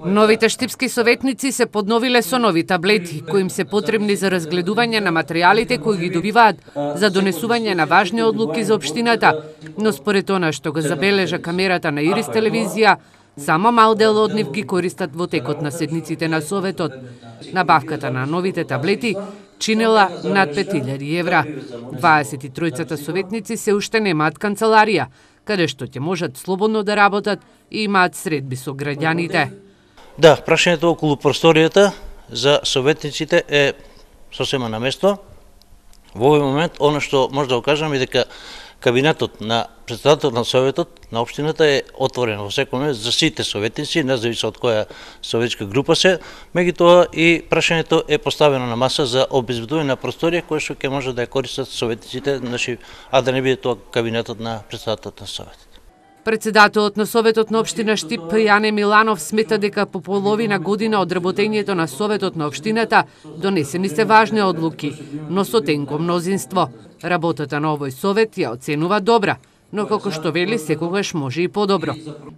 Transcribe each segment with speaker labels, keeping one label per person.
Speaker 1: Новите штипски советници се подновиле со нови таблети, кои им се потребни за разгледување на материјалите кои ги добиваат за донесување на важни одлуки за општината, но според она што го забележа камерата на Ирис телевизија, само мал дел од нив ги користат во текот на седниците на Советот. Набавката на новите таблети чинела над 5000 евра. 23 советници се уште немаат канцеларија, каде што ќе можат слободно да работат и имаат средби со граѓаните.
Speaker 2: Да, прашањето околу просторијата за советниците е сосема на место. Во овој момент, оно што може да го кажам е дека кабинетот на председателот на Советот на општината е отворен во секој момент за сите советници, независно од која советска група се. Меѓутоа и прашањето е поставено на маса за обезбедување на просторија која што ќе може да ја користат советниците, а да не биде тоа кабинетот на председателот на Советот.
Speaker 1: Председателот на Советот на општина Штип Јане Миланов смета дека по половина година од работењето на Советот на општината донесени се важни одлуки, но со тенко мнозинство. Работата на овој совет ја оценува добра, но како што вели секогаш може и подобро.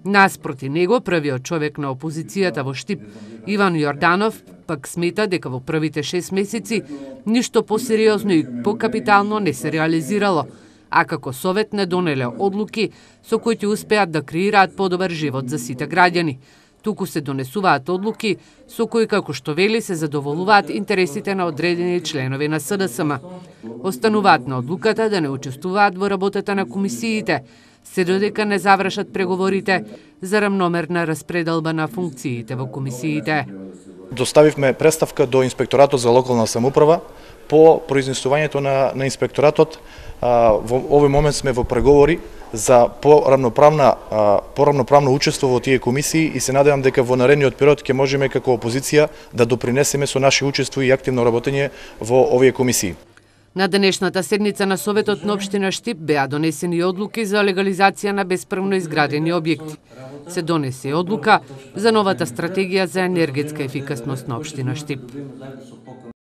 Speaker 1: Наспроти него, првиот човек на опозицијата во Штип, Иван Јорданов, пак смета дека во првите 6 месеци ништо посериозно и покапитално не се реализирало, а како совет не донеле одлуки со кои ќе успеат да креираат подобар живот за сите граѓани. Туку се донесуваат одлуки со кои, како што вели, се задоволуваат интересите на одредени членови на СДСМ. Остануваат на одлуката да не учествуваат во работата на комисиите, се додека не завршат преговорите за рамномерна распределба на функциите во комисиите.
Speaker 3: Доставивме представка до Инспекторатот за локална самоуправа по произнесувањето на инспекторатот. Во овој момент сме во преговори за порамноправно учество во тие комисии и се надевам дека во наредниот период ќе можеме како опозиција да допринесеме со наше учество и активно работење во овие комисии.
Speaker 1: На денешната седница на Советот на општина Штип беа донесени одлуки за легализација на бесправно изградени објекти. Се донесе одлука за новата стратегија за енергетска ефикасност на општина Штип.